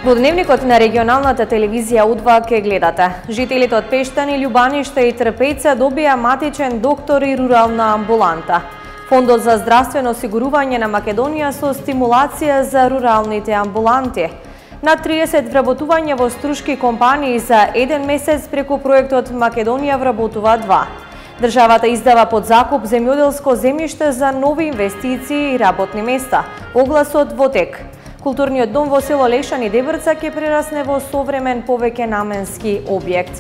Во дневникот на регионалната телевизија У2 ке гледате. Жителите од Пештани, Љубаниште и Трпеца добија матичен доктор и рурална амбуланта. Фондот за здравствено осигурување на Македонија со стимулација за руралните амбуланти. На 30 вработување во струшки компании за еден месец преку проектот Македонија вработува 2. Државата издава под закуп земјоделско земјиште за нови инвестиции и работни места. Огласот во тек. Културниот дом во село Лешани Дебрца ќе прерасне во современ повеќе наменски објект.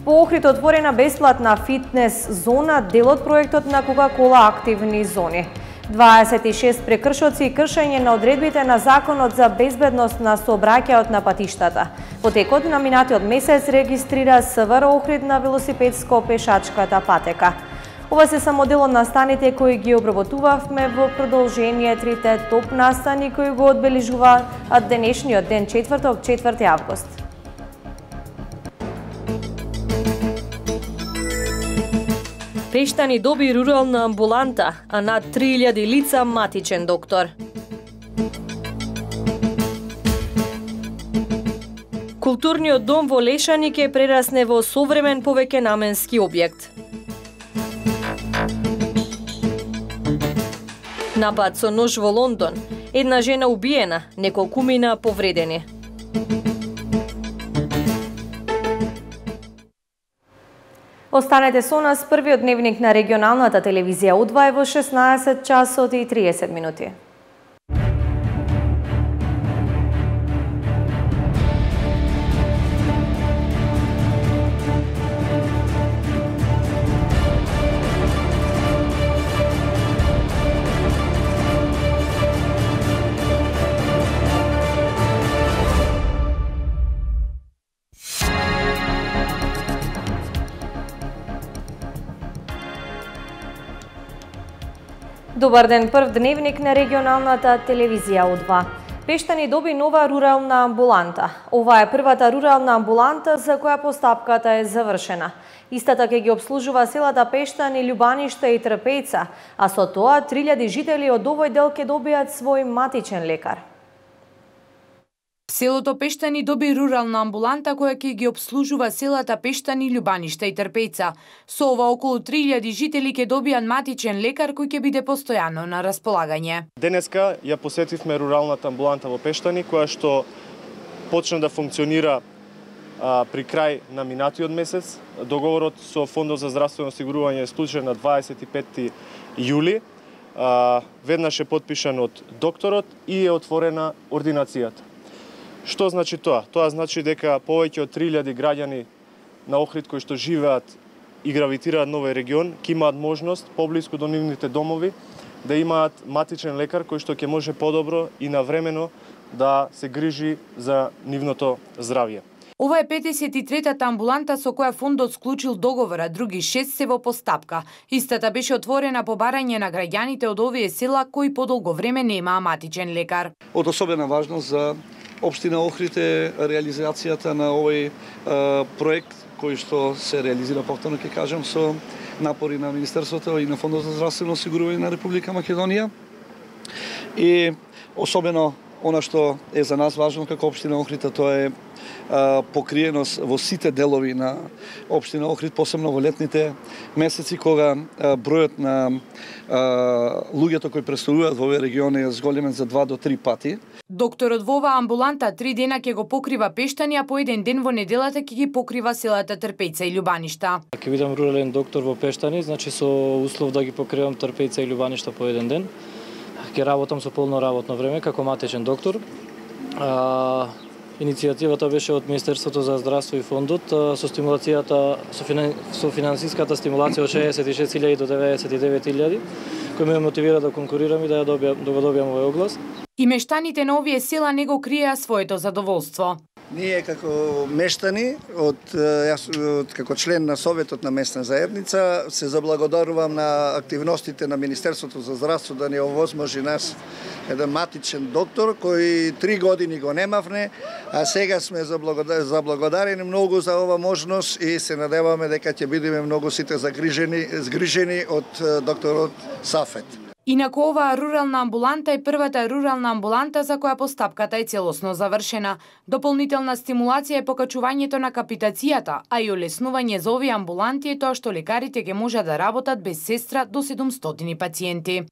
Во Охрид отворена бесплатна фитнес зона, дел од проектот на Кока-кола активни зони. 26 прекршоци и кршење на одредбите на Законот за безбедност на сообраќајот на патиштата. Во текот на минатиот месец регистрира СВР Охрид на велосипедско-пешачката патека. Ова се само дел од настаните кои ги обработувавме во продолжение трите топ настани кои го одбележува денешниот ден, четврток, 4 август. Пештани доби рурална амбуланта, а над 3000 лица матичен доктор. Културниот дом во Лешани ќе прерасне во современ повеќе наменски објект. Напад со нож во Лондон. Една жена убиена, неколкумина повредени. Останете со нас, првиот дневник на регионалната телевизија У2 во 16 часот и 30 минути. Добар ден, прв дневник на регионалната телевизија У2. Пештани доби нова рурална амбуланта. Ова е првата рурална амбуланта за која постапката е завршена. Истата ќе ги обслужува селата Пештани, Љубаниште и Трпеца, а со тоа 3000 жители од овој дел ќе добијат свој матичен лекар. Селото Пештани доби рурална амбуланта која ќе ги обслужува селата Пештани, Љубаниште и Трпеца. Со ова околу 3000 жители ќе добијат матичен лекар кој ќе биде постојано на располагање. Денеска ја посетивме руралната амбуланта во Пештани, која што почна да функционира при крај на минатиот месец. Договорот со Фондот за здравствено осигурување е склучен на 25 јули. Веднаш е подпишан од докторот и е отворена ординацијата. Што значи тоа? Тоа значи дека повеќе од 3000 граѓани на Охрид кои што живеат и гравитираат на овој регион ќе имаат можност поблиску до нивните домови да имаат матичен лекар кој што ќе може подобро и навремено да се грижи за нивното здравје. Ова е 53-та амбуланта со која фондот склучил договор, а други 6 се во постапка. Истата беше отворена по барање на граѓаните од овие села кои подолго време немаа матичен лекар. Од особена важност за Општина Охрид е реализацијата на овој проект кој што се реализира повторно, ќе кажам, со напори на Министерството и на Фондот за здравствено осигурување на Република Македонија. И особено она што е за нас важно како Општина Охрид, тоа е покриеност во сите делови на Општина Охрид, посебно во летните месеци кога бројот на луѓето кои престојуваат во овој регион е зголемен за 2 до 3 пати. Докторот во оваа амбуланта 3 дена ќе го покрива Пештани, а по еден ден во неделата ќе ги покрива селата Трпеца и Љубаништа. Ќе бидам рурален доктор во Пештани, значи со услов да ги покривам Трпеца и Љубаништа по еден ден. Ќе работам со полно работно време како матичен доктор. Иницијативата беше од Министерството за здравство и фондот со стимулацијата, со финансиската стимулација од 66.000 до 99.000, кој ме мотивира да конкурирам и да го добијам овој оглас. И мештаните на овие села не го криеа своето задоволство. Ние како мештани, јас како член на Советот на местна заедница, се заблагодарувам на активностите на Министерството за здравство да ни овозможи нас еден матичен доктор кој 3 години го немавне, а сега сме заблагодарени многу за ова можност и се надеваме дека ќе бидеме многу сите згрижени од докторот Сафет. Инаку оваа рурална амбуланта е првата рурална амбуланта за која постапката е целосно завршена. Дополнителна стимулација е покачувањето на капитацијата, а и олеснување за овие амбуланти е тоа што лекарите ќе можат да работат без сестра до 700 пациенти.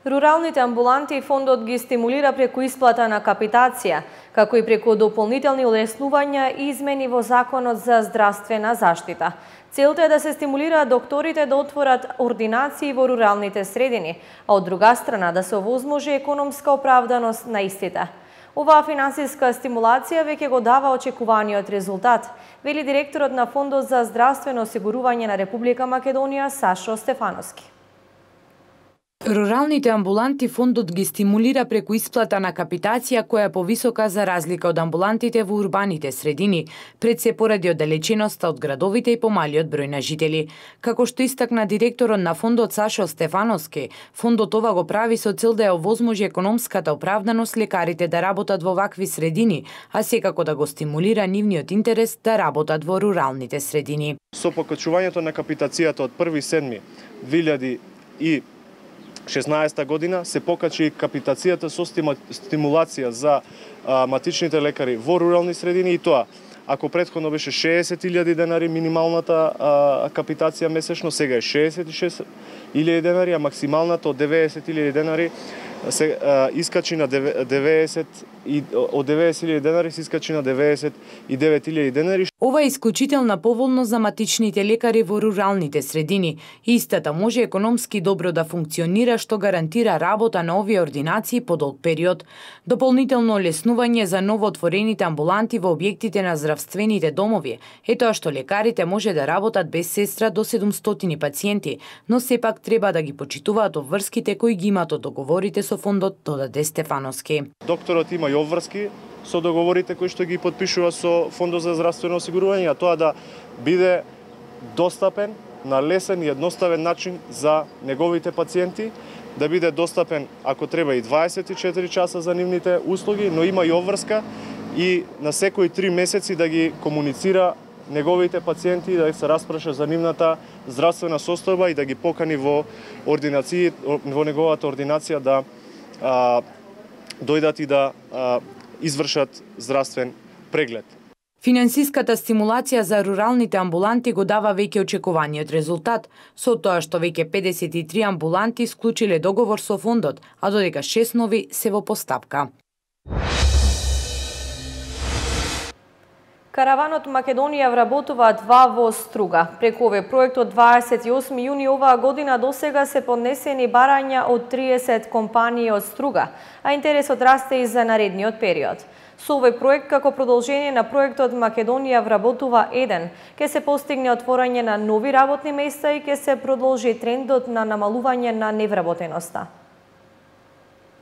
Руралните амбуланти фондот ги стимулира преку исплата на капитација, како и преку дополнителни олеснувања и измени во Законот за здравствена заштита. Целта е да се стимулира докторите да отворат ординации во руралните средини, а од друга страна да се овозможи економска оправданост на истите. Оваа финансиска стимулација веќе го дава очекуваниот резултат, вели директорот на Фондот за здравствено осигурување на Република Македонија Сашо Стефановски. Руралните амбуланти фондот ги стимулира преку исплата на капитација која е повисока за разлика од амбулантите во урбаните средини, пред се поради оддалеченоста од градовите и помалиот број на жители. Како што истакна директорот на фондот Сашо Стефановски, фондот ова го прави со цел да ја овозможи економската оправданост лекарите да работат во вакви средини, а секако да го стимулира нивниот интерес да работат во руралните средини. Со покачувањето на капитацијата од 1.7.2016 година се покачи капитацијата со стимулација за матичните лекари во рурални средини и тоа, ако претходно беше 60.000 денари минималната капитација месечно, сега е 66.000 денари, а максималната од 90.000 денари се искачи на 90 и од 90.000 денари се искачи на 99.000 денари. Ова е исклучителна поволност за матичните лекари во руралните средини. Истата може економски добро да функционира, што гарантира работа на овие ординации по долг период. Дополнително олеснување за новоотворените амбуланти во објектите на здравствените домови е тоа што лекарите може да работат без сестра до 700 пациенти, но сепак треба да ги почитуваат обврските кои ги имаат од договорите со фондот, додаде Стефановски. Докторот има и обврски со договорите кои што ги подпишува со Фондот за здравствено осигурување, а тоа да биде достапен на лесен и едноставен начин за неговите пациенти, да биде достапен ако треба и 24 часа за нивните услуги, но има и обврска и на секои 3 месеци да ги комуницира неговите пациенти, да се распраша за нивната здравствена состојба и да ги покани во ординации, во неговата ординација да дојдат и да извршат здравствен преглед. Финансиската стимулација за руралните амбуланти го дава веќе очекуваниот резултат, со тоа што веќе 53 амбуланти склучиле договор со фондот, а додека 6 нови се во постапка. Караванот Македонија вработува 2 во Струга. Преку овој проект од 28 јуни оваа година досега се поднесени барања од 30 компании од Струга, а интересот расте и за наредниот период. Со овој проект, како продолжение на проектот Македонија вработува 1, ќе се постигне отворање на нови работни места и ќе се продолжи трендот на намалување на невработеноста.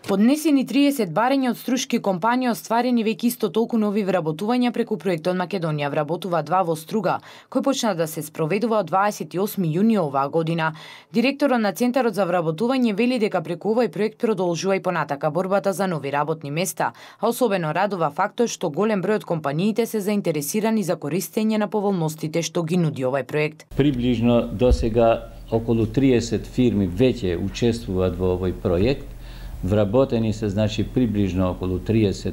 Поднесени 30 барања од струшки компании, остварени веќе исто толку нови вработувања преку проектот Македонија вработува 2 во Струга, кој почна да се спроведува од 28 јуни оваа година. Директорот на Центарот за вработување вели дека преку овој проект продолжува и понатака борбата за нови работни места, а особено радува фактот што голем број од компаниите се заинтересирани за користење на поволностите што ги нуди овој проект. Приближно досега околу 30 фирми веќе учествуваат во овој проект. Вработени се, значи, приближно околу 30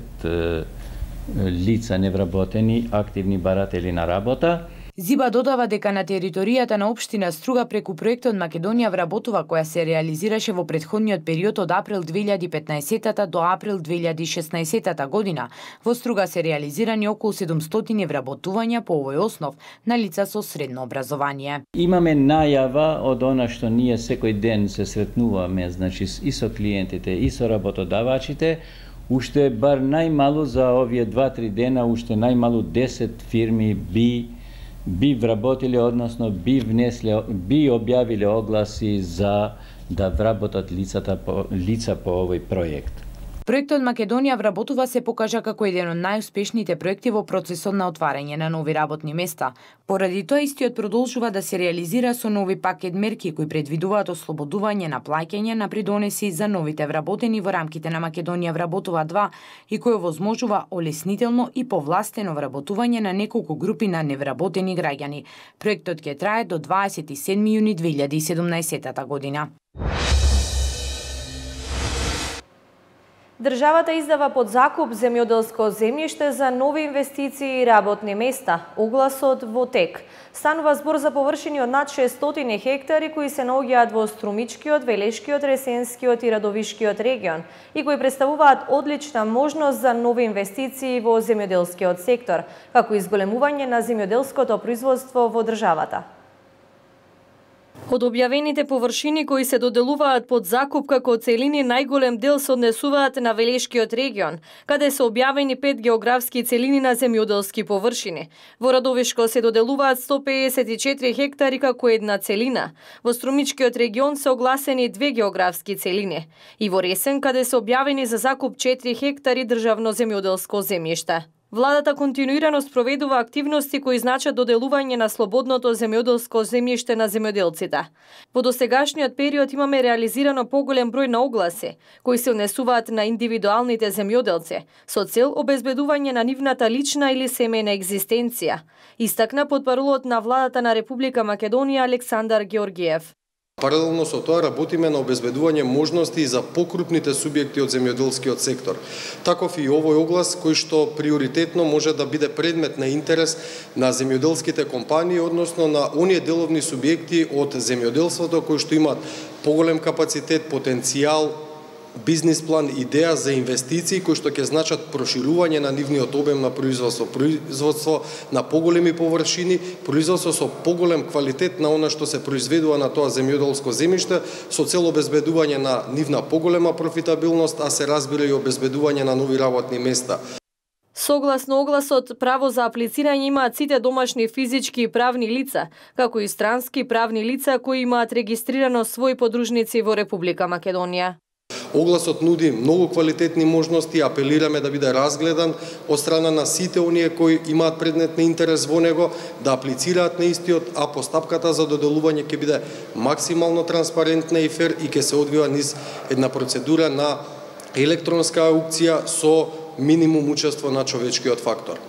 лица невработени, активни баратели на работа. Зиба додава дека на територијата на општина Струга преку проектот Македонија вработува, која се реализираше во претходниот период од април 2015 до април 2016 година, во Струга се реализирани околу 700 вработувања по овој основ на лица со средно образование. Имаме најава од она што ние секој ден се сретнуваме, значи и со клиентите и со работодавачите, уште бар најмалу за овие 2-3 дена, уште најмалу 10 фирми би вработиле, односно би објавиле огласи за да вработат лица по овој проект. Проектот Македонија вработува се покажа како еден од најуспешните проекти во процесот на отварање на нови работни места. Поради тоа истиот продолжува да се реализира со нови пакет мерки кои предвидуваат ослободување на плаќање на придонеси за новите вработени во рамките на Македонија вработува 2 и кој овозможува олеснително и повластено вработување на неколку групи на невработени граѓани. Проектот ќе трае до 27 јуни 2017 година. Државата издава под закуп земјоделско земјиште за нови инвестиции и работни места. Огласот во тек. Станува збор за површини од над 600 хектари кои се наоѓаат во Струмичкиот, Велешкиот, Ресенскиот и Радовишкиот регион и кои представуваат одлична можност за нови инвестиции во земјоделскиот сектор, како и зголемување на земјоделското производство во државата. Од објавените површини кои се доделуваат под закуп како целини, најголем дел се однесуваат на Велешкиот регион, каде се објавени 5 географски целини на земјоделски површини. Во Радовишко се доделуваат 154 хектари како една целина. Во Струмичкиот регион се огласени 2 географски целини. И во Ресен, каде се објавени за закуп 4 хектари државно земјоделско земјиште. Владата континуирано спроведува активности кои значат доделување на слободното земјоделско земјиште на земјоделците. Во досегашниот период имаме реализирано поголем број на огласи, кои се однесуваат на индивидуалните земјоделци, со цел обезбедување на нивната лична или семејна екзистенција, истакна потпарулот на владата на Република Македонија Александар Георгиев. Паралелно со тоа работиме на обезбедување можности за покрупните субјекти од земјоделскиот сектор. Таков и овој оглас кој што приоритетно може да биде предмет на интерес на земјоделските компании, односно на оние деловни субјекти од земјоделството кои што имаат поголем капацитет, потенцијал, бизнис план, идеја за инвестиции кои што ќе значат проширување на нивниот обем на производство на поголеми површини, производство со поголем квалитет на она што се произведува на тоа земјоделско земјиште, со цел обезбедување на нивна поголема профитабилност, а се разбира и обезбедување на нови работни места. Согласно огласот, право за аплицирање имаат сите домашни физички и правни лица, како и странски правни лица кои имаат регистрирано своји подружници во Република Македонија. Огласот нуди многу квалитетни можности, апелираме да биде разгледан од страна на сите оние кои имаат предмет на интерес во него, да аплицираат на истиот, а постапката за доделување ќе биде максимално транспарентна и фер и ќе се одвива низ една процедура на електронска аукција со минимум учество на човечкиот фактор.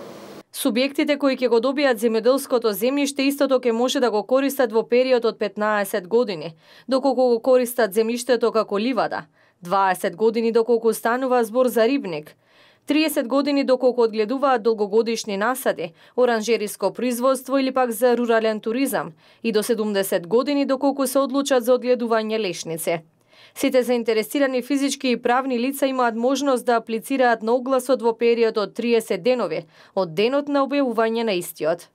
Субјектите кои ќе го добијат земјоделското земјиште истото ќе може да го користат во период од 15 години, доколку го користат земјиштето како ливада, 20 години доколку станува збор за рибник, 30 години доколку одгледуваат долгогодишни насади, оранжериско производство или пак за рурален туризам и до 70 години доколку се одлучат за одгледување лешници. Сите заинтересирани физички и правни лица имаат можност да аплицираат на огласот во период од 30 денови, од денот на објавување на истиот.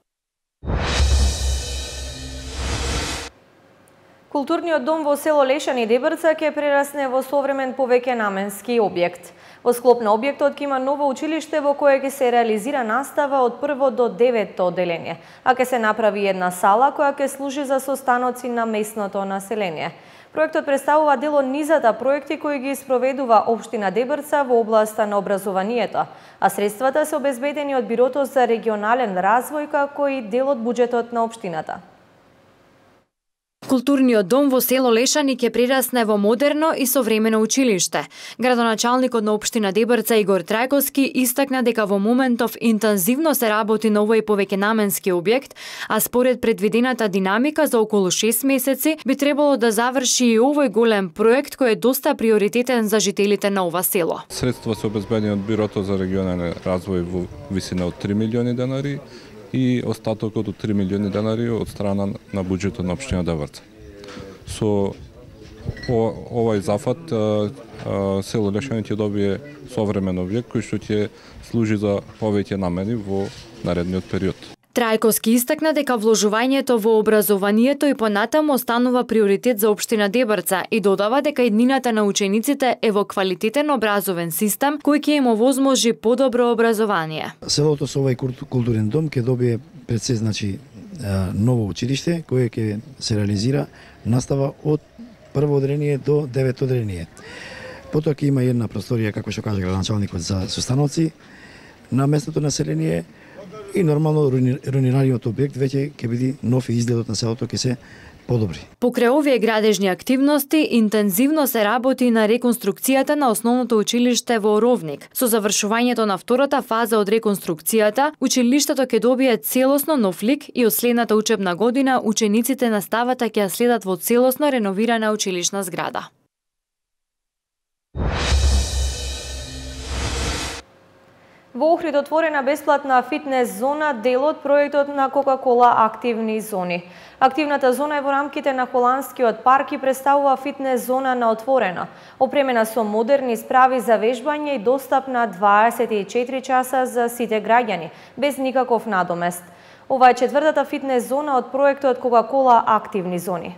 Културниот дом во село Лешани Дебрца ќе прерасне во современ повеќенаменски објект. Во склоп на објектот ќе има ново училиште во кое ќе се реализира настава од 1 до 9 одделение, а ќе се направи една сала која ќе служи за состаноци на местното население. Проектот представува дел од низата проекти кои ги спроведува општина Дебрца во областа на образованието, а средствата се обезбедени од Бирото за регионален развој како и дел од буџетот на општината. Културниот дом во село Лешани ќе прерасне во модерно и современо училиште. Градоначалникот на општина Дебрца Игор Трајковски истакна дека во моментов интензивно се работи на овој повеќенаменски објект, а според предвидената динамика за околу 6 месеци би требало да заврши и овој голем проект кој е доста приоритетен за жителите на ова село. Средства се обезбедени од Бирото за регионален развој во висина од 3 милиони денари и остатокот од 3 милиони денари од страна на буџетот на општина Дебрца. Со овој зафат село Лешани ќе добие современ објект кој што ќе служи за повеќе намени во наредниот период. Трајковски истакна дека вложувањето во образованието и понатаму останува приоритет за општина Дебрца и додава дека иднината на учениците е во квалитетен образовен систем кој ќе им овозможи подобро образование. Селото со овој културен дом ќе добие пред се ново училиште кое ќе се реализира настава од прво одделение до 9 одделение. Потоа ќе има една просторија, како што кажа градоначалникот, за состаноци на местното население и нормално руинираниот објект веќе ќе биде нов и изгледот на селото ќе се подобри. Покрај овие градежни активности, интензивно се работи на реконструкцијата на основното училиште во Оровник. Со завршувањето на втората фаза од реконструкцијата, училиштето ќе добие целосно нов лик и од следната учебна година учениците на ставата ќе ја следат во целосно реновирана училишна зграда. Во Охрид отворена бесплатна фитнес зона, дел од проектот на Кока-кола Активни зони. Активната зона е во рамките на Холандскиот парк и представува фитнес зона на отворено, опремена со модерни справи за вежбање и достапна 24 часа за сите граѓани, без никаков надомест. Ова е четвртата фитнес зона од проектот Кока-кола Активни зони.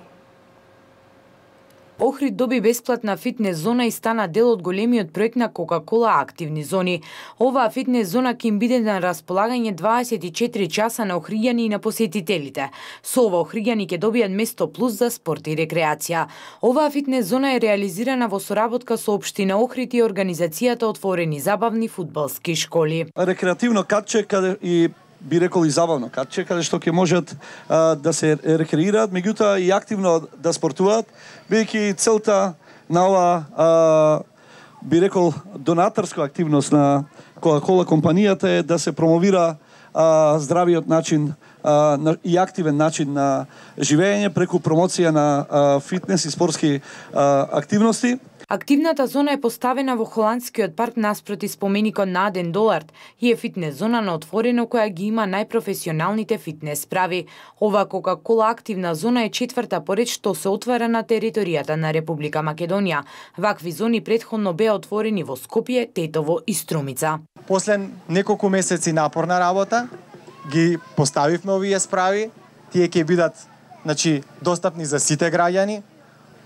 Охрид доби бесплатна фитнес зона и стана дел од големиот проект на Кока-кола Активни зони. Оваа фитнес зона ќе им биде на располагање 24 часа на охриѓани и на посетителите. Со ова охриѓани ќе добијат место плюс за спорт и рекреација. Оваа фитнес зона е реализирана во соработка со општина Охрид и организацијата Отворени забавни фудбалски школи. Рекреативно катче каде и би рекол и забавно катче, каде што ќе можат да се рекреираат, меѓутоа и активно да спортуваат, бидејќи целта на ова би рекол донаторска активност на Кока-кола компанијата е да се промовира здравиот начин и активен начин на живење преку промоција на фитнес и спортски активности. Активната зона е поставена во Холандскиот парк наспроти споменикот на Аден Долард и е фитнес зона на отворено која ги има најпрофесионалните фитнес справи. Ова Кока-кола Активна зона е четврта поред што се отвара на територијата на Република Македонија. Вакви зони претходно беа отворени во Скопје, Тетово и Струмица. После неколку месеци напорна работа ги поставивме овие справи. Тие ќе бидат достапни за сите граѓани.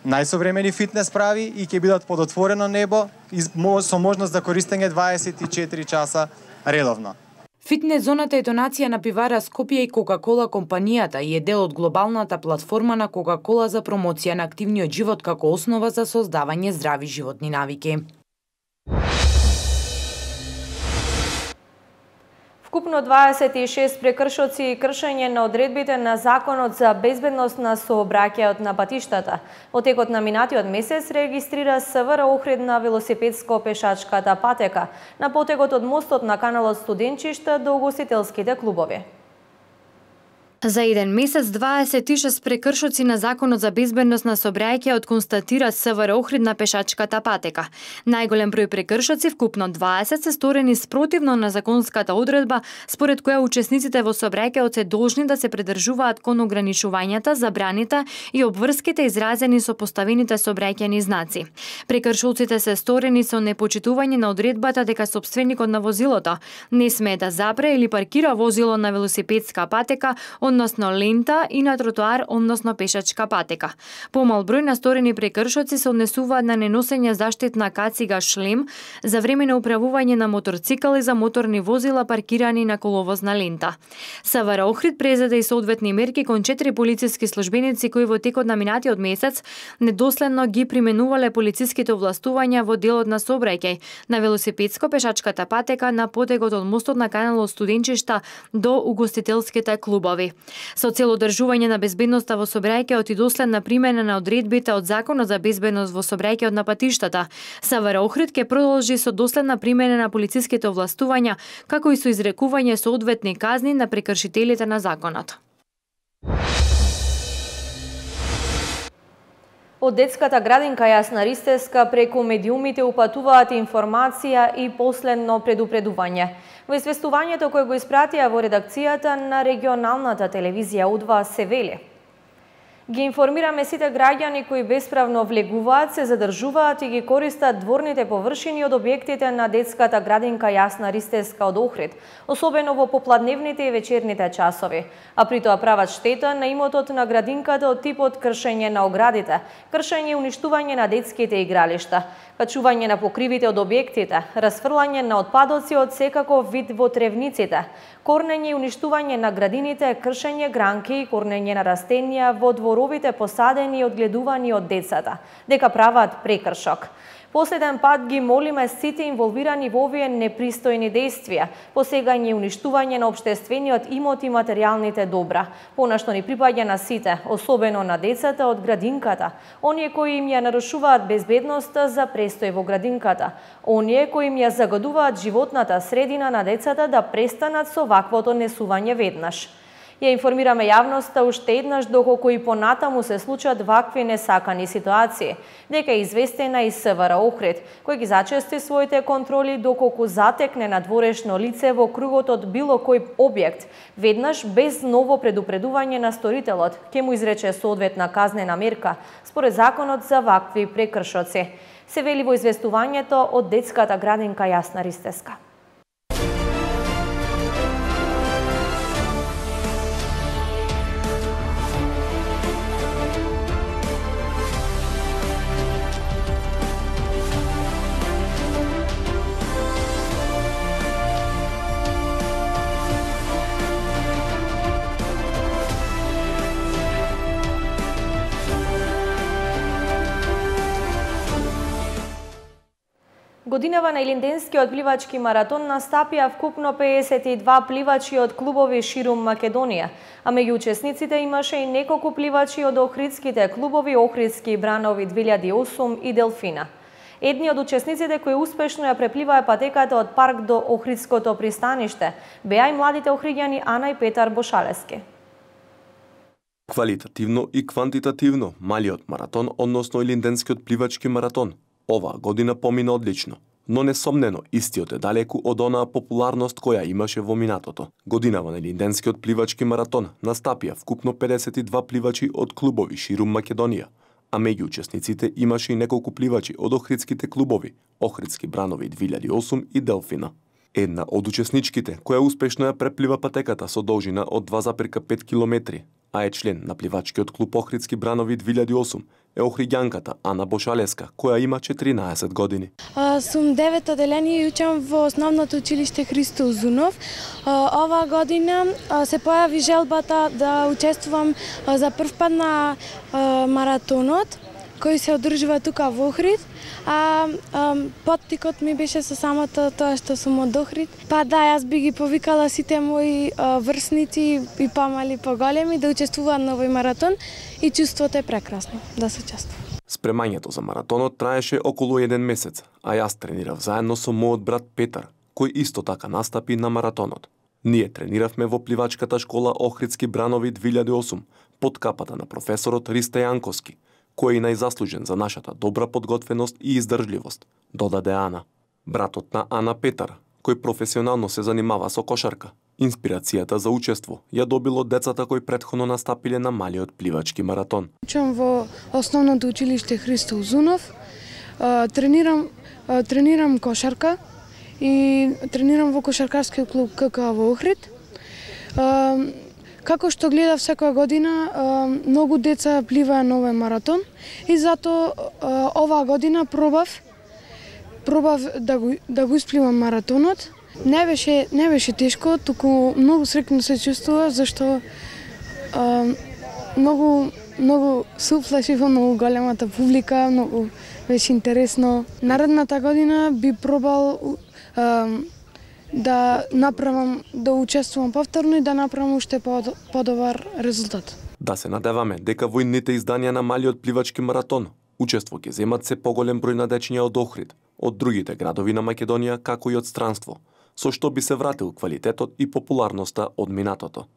Најсовремени фитнес справи и ќе бидат под отворено небо и со можност за користење 24 часа редовно. Фитнес зоната е донација на пивара Скопје и Кока-кола компанијата и е дел од глобалната платформа на Кока-кола за промоција на активниот живот како основа за создавање здрави животни навики. Вкупно 26 прекршоци и кршење на одредбите на Законот за безбедност на сообраќајот на патиштата. Во текот на минатиот месец регистрира СВР Охрид на велосипедско-пешачката патека на потегот од мостот на каналот Студенчишта до угостителските клубови. За еден месец 26 прекршоци на Законот за безбедност на сообраќајот констатира СВР Охрид на пешачката патека. Најголем број прекршоци, вкупно 20, се сторени спротивно на законската одредба, според која учесниците во сообраќајот се должни да се придржуваат кон ограничувањата, забраните и обврските изразени со поставените сообраќајни знаци. Прекршоците се сторени со непочитување на одредбата дека сопственикот на возилото не смее да запре или паркира возило на велосипедска патека, односно лента и на тротоар, односно пешачка патека. Помал број на сторени прекршоци се однесуваат на неносење заштитна кацига шлем за време на управување на моторцикл и за моторни возила паркирани на коловозна лента. СВР Охрид презеде и соодветни мерки кон 4 полициски службеници кои во текот на минатиот месец недоследно ги применувале полициските овластувања во делот на сообраќај на велосипедско-пешачката патека на потегот од мостот на каналот Студенчишта до угостителските клубови. Со цел одржување на безбедноста во сообраќајот и доследна примена на одредбите од Законот за безбедност во сообраќајот на патиштата, СВР Охрид ќе продолжи со доследна примена на полициските овластувања, како и со изрекување соодветни казни на прекршителите на законот. Од детската градинка Јасна Ристевска преку медиумите упатуваат информација и последно предупредување. Во известувањето кое го испратија во редакцијата на регионалната телевизија У2 се вели: ги информираме сите граѓани кои бесправно влегуваат, се задржуваат и ги користат дворните површини од објектите на детската градинка Јасна Ристевска од Охрид, особено во попладневните и вечерните часови, а при тоа прават штета на имотот на градинката од типот кршење на оградите, кршење и уништување на детските игралишта, качување на покривите од објектите, расфрлање на отпадоци од секаков вид во тревниците, корнење и уништување на градините, кршење гранки и корнење на растенија во дворовите посадени и одгледувани од децата, дека прават прекршок. Последен пат ги молиме сите инволвирани во овие непристојни действија, посегање и уништување на општествениот имот и материјалните добра, понашто ни припаѓа на сите, особено на децата од градинката, оние кои им ја нарушуваат безбедноста за престој во градинката, оние кои им ја загадуваат животната средина на децата да престанат со ваквото несување веднаш. Ја информираме јавноста уште еднаш доколку и понатаму се случат вакви несакани ситуации, дека е известена и СВР Охрид, кој ги зачести своите контроли доколку затекне надворешно лице во кругот од било кој објект, веднаш без ново предупредување на сторителот, ќе му изрече соодветна казнена мерка според законот за вакви прекршоци. Се вели во известувањето од детската градинка Јасна Ристеска. Годинава на Илинденскиот пливачки маратон настапија вкупно 52 пливачи од клубови ширум Македонија, а меѓу учесниците имаше и неколку пливачи од охридските клубови Охридски бранови 2008 и Делфина. Едни од учесниците кои успешно ја препливаа патеката од парк до Охридското пристаниште беа и младите охриѓани Ана и Петар Бошалески. Квалитативно и квантитативно малиот маратон, односно Илинденскиот пливачки маратон, оваа година помина одлично, но несомнено истиот е далеку од онаа популарност која имаше во минатото. Годинава на Илинденскиот пливачки маратон настапија вкупно 52 пливачи од клубови ширум Македонија, а меѓу учесниците имаше и неколку пливачи од охридските клубови Охридски бранови 2008 и Делфина. Една од учесничките која успешно ја преплива патеката со должина од 2,5 километри, а е член на пливачкиот клуб Охридски бранови 2008, е охриѓанката Ана Бошалеска, која има 14 години. Сум 9 оделение и учам во основното училиште Христо Узунов. Оваа година се појави желбата да учествувам за прв пат на маратонот, кој се одржува тука во Охрид, а поттикот ми беше со самото тоа што сум од Охрид. Па да, јас би ги повикала сите мои врсници и помали поголеми да учествуваат на овој маратон и чувството е прекрасно да се учествува. Спремањето за маратонот траеше околу 1 месец, а јас тренирав заедно со мојот брат Петар, кој исто така настапи на маратонот. Ние трениравме во пливачката школа Охридски бранови 2008 под капата на професорот Ристо Јанковски, кој е најзаслужен за нашата добра подготвеност и издржливост, додаде Ана. Братот на Ана Петар, кој професионално се занимава со кошарка, инспирацијата за учество ја добил од децата кои претходно настапиле на малиот пливачки маратон. Учам во основното училиште Христо Узунов, тренирам кошарка и тренирам во кошаркарскиот клуб КК во Охрид. Како што гледав секоја година, многу деца пливаа на овој маратон и затоа оваа година пробав да го испливам маратонот. Не беше тешко, туку многу среќно се чувствува зашто многу се уплашив во многу големата публика, многу беше интересно. Наредната година би пробал да учествувам повторно и да направам уште подобар резултат. Да се надеваме дека во идните изданија на малиот пливачки маратон учество ќе земат се поголем број на дечиња од Охрид, од другите градови на Македонија, како и од странство, со што би се вратил квалитетот и популарноста од минатото.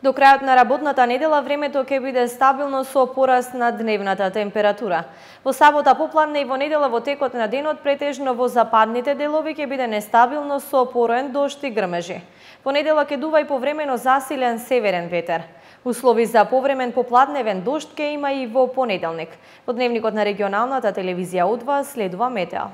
До крајот на работната недела времето ќе биде стабилно со пораст на дневната температура. Во сабота попладне и во недела во текот на денот претежно во западните делови ќе биде нестабилно со пороен дожд и грмежи. Во недела ќе дува и повремено засилен северен ветер. Услови за повремен попладневен дожд ќе има и во понеделник. Во дневникот на регионалната телевизија Удва следува метео.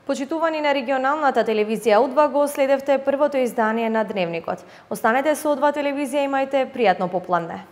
Почитувани на регионалната телевизија Удва, го следевте првото издание на Дневникот. Останете со Удва телевизија, имајте пријатно попладне.